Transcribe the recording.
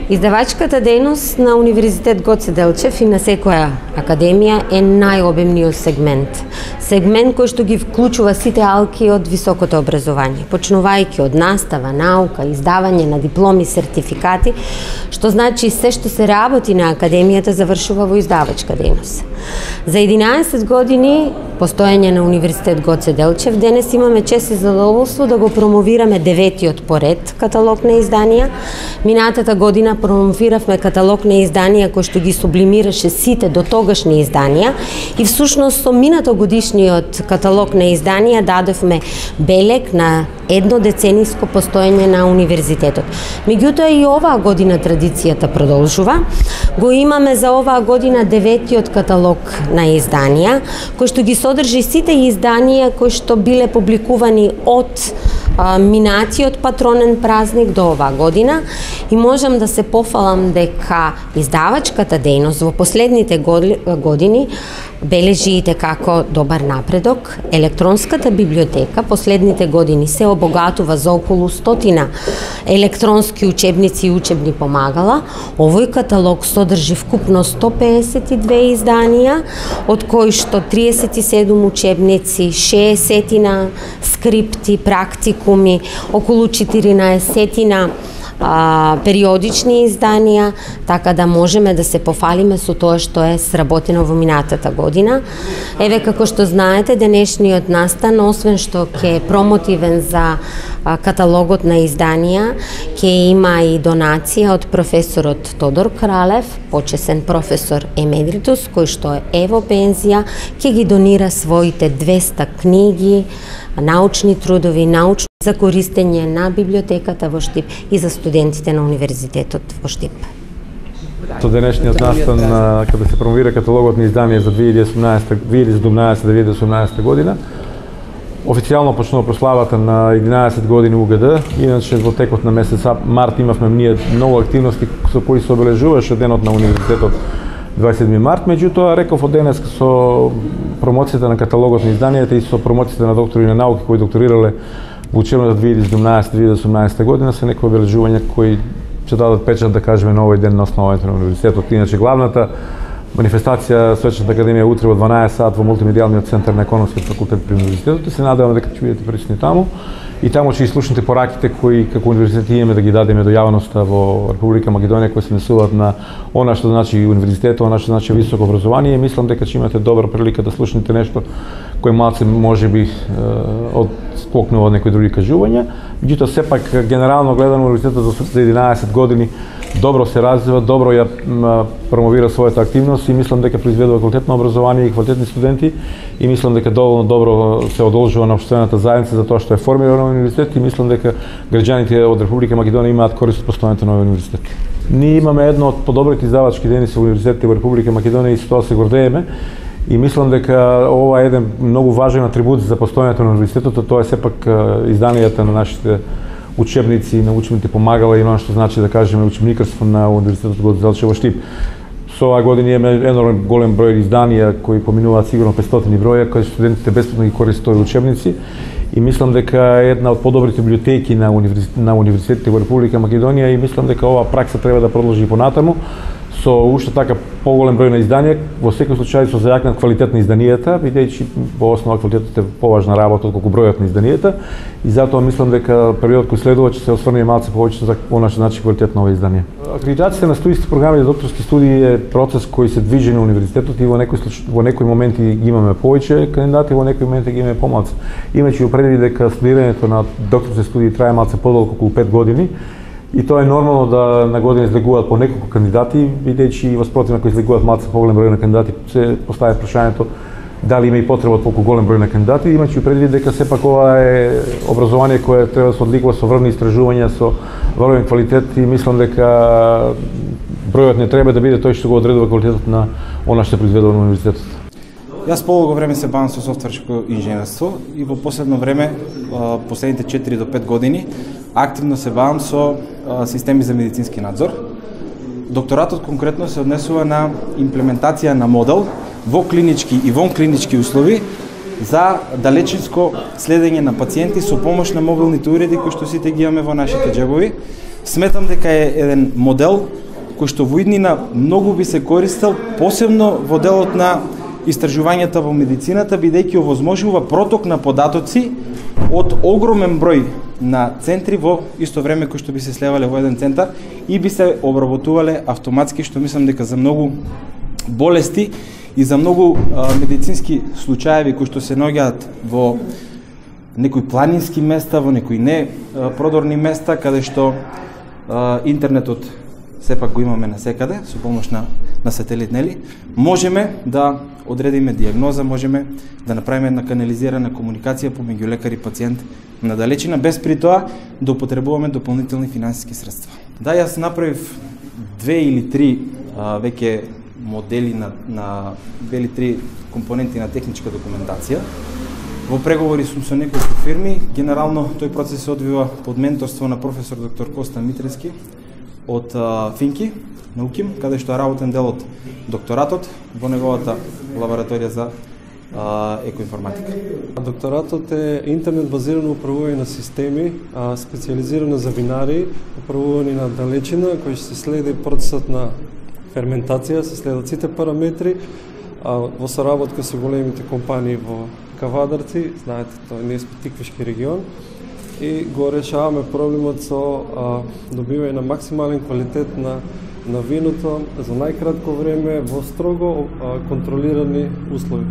Издавачката дејност на Универзитет Гоце Делчев и на секоја академија е најобемниот сегмент. Сегмент кој што ги вклучува сите алки од високото образование, почнувајќи од настава, наука, издавање на дипломи, сертификати, што значи се што се работи на академијата завршува во издавачка дејност. За 11 години постоење на Универзитет Гоце Делчев, денес имаме чест и задоволство да го промовираме 9-тиот поред каталог на изданија. Минатата година промовиравме каталог на изданија кој што ги сублимираше сите дотогашни изданија и всушност со минатогодишниот каталог на изданија дадовме белег на еднодецениско постоење на универзитетот. Меѓутоа и оваа година традицијата продолжува. Го имаме за оваа година 9-тиот каталог на изданија, кој што ги содржи сите изданија кои што биле публикувани од минатиот патронен празник до оваа година и можам да се пофалам дека издавачката дејност во последните години бележи како добар напредок. Електронската библиотека последните години се обогатува за околу 100 електронски учебници и учебни помагала. Овој каталог содржи вкупно 152 изданија, од кои што 37 учебници, 60 скрипти, практикуми, околу 14 периодични изданија, така да можеме да се пофалиме со тоа што е сработено во минатата година. Еве, како што знаете, денешниот настан, освен што ќе е промотивен за каталогот на изданија, ќе има и донација од професорот Тодор Кралев, почесен професор емеритус, кој што е во пензија, ќе ги донира своите 200 книги, научни трудови, научни за користење на библиотеката во Штип и за студентите на Универзитетот во Штип. Со денешниот настан, кога се промовира каталогот на изданија за 2017-2018 година, официјално почнува прославата на 11 години УГД. Иначе во текот на месец март имавме ние многу активности со кои се обележуваше денот на Универзитетот 27 март, меѓутоа реков од денес со промоцијата на каталогот на изданијата и со промоцијата на доктори на науки кои докторирале во учебната 2017-2018 година се некои обележувања кои ќе дадат печат, да кажеме, на овој ден на основањето на универзитетот. Иначе главната манифестација Свечната академија утре во 12 сат во мултимедијалниот центар на економскиот факултет при универзитетот и се надеваме дека ќе бидете присутни таму. И таму ќе слушнете пораките кои како универзитет имаме да ги дадеме до јавноста во Република Македонија, кои се несуваат на она што значи универзитет, она што значи високо образование. Мислам дека ќе имате добра прилика да слушнете нешто кој малце можеби отскокнува од некои други кажувања. Меѓутоа сепак генерално гледано универзитетот за 11 години добро се развива, добро ја промовира својата активност и мислам дека произведува квалитетно образование и квалитетни студенти и мислам дека доволно добро се одолжува на општествената заедница за тоа што е формирано универзитет и мислам дека граѓаните од Република Македонија имаат корист од постојањето на овој универзитет. Ние имаме едно од подобрите издавачки дејности во универзитетите во Република Македонија и со тоа се гордееме. И мислам дека ова е еден многу важен атрибут за постојањето на универзитетот, тоа е сепак изданијата на нашите учебници, на учебните помагала и оно што значи да кажеме учебникарство на Универзитетот Гоце Делчев во Штип. Со оваа година имаме енормен голем број изданија кои поминуваат сигурно 500 броја, кои студентите бесплатно ги користат овие учебници. И мислам дека е една од подобрите библиотеки на универзитетите во Република Македонија и мислам дека оваа пракса треба да продолжи и понатаму со уште така поголем број на изданија, во секој случај со зајакнат квалитет на изданијата, бидејќи во основа квалитетот е поважна работа отколку бројот на изданијата и затоа мислам дека период кој следува ќе се осврне малце повеќе за она што значи квалитет на овие изданија. Акредитацијата на студиски програми за докторски студии е процес кој се движи на универзитетот и во некои моменти ги имаме повеќе кандидати, во некои моменти ги имаме помалку. Имајќи предвид дека студирањето на докторски студии трае малце подолго, околу 5 години. И тоа е нормално да на година излегуваат по неколку кандидати, бидејќи во спротивно кои излегуваат малце поголем број на кандидати, се поставя прашањето дали има и потреба од толку голем број на кандидати, имајќи предвид дека сепак ова е образование кое треба да се одликува со врвни истражувања, со врвен квалитет и мислам дека бројот не треба да биде тој што го одредува квалитетот на она што се произведува на универзитетот. Јас полого време се бавам со софтверско инженерство и во последно време, последните 4 до 5 години, активно се бавам со системи за медицински надзор. Докторатот конкретно се однесува на имплементација на модел во клинички и вон клинички услови за далечинско следење на пациенти со помош на мобилните уреди кои што сите ги имаме во нашите џебови. Сметам дека е еден модел кој што во иднина многу би се користел, посебно во делот на истражувањата во медицината, бидејќи овозможува проток на податоци од огромен број на центри во исто време кои што би се слевале во еден центар и би се обработувале автоматски, што мислам дека за многу болести и за многу медицински случаеви кои што се наоѓаат во некои планински места, во некои не продорни места, каде што интернетот сепак го имаме насекаде, со помош на сателит, нели? Можеме да одредиме дијагноза, можеме да направиме една канализирана комуникација помеѓу лекар и пациент на далечина, без при тоа да употребуваме дополнителни финансиски средства. Да, јас направив 2 или 3 веќе модели на 2 или 3 компоненти на техничка документација. Во преговори сум со неколку фирми. Генерално тој процес се одвива под менторство на професор доктор Коста Митрески од Финки, на УКИМ, каде што е работен дел од докторатот во неговата лабораторија за екоинформатика. Докторатот е интернет базирано управување на системи, специализирано за винари, управување на далечина, кој ќе се следи процесот на ферментација, се следат сите параметри, во соработка со големите компании во Кавадарци, знаете, тоа не е специфички регион, и го решаваме проблемот со добивање на максимален квалитет на виното за најкратко време во строго контролирани услови.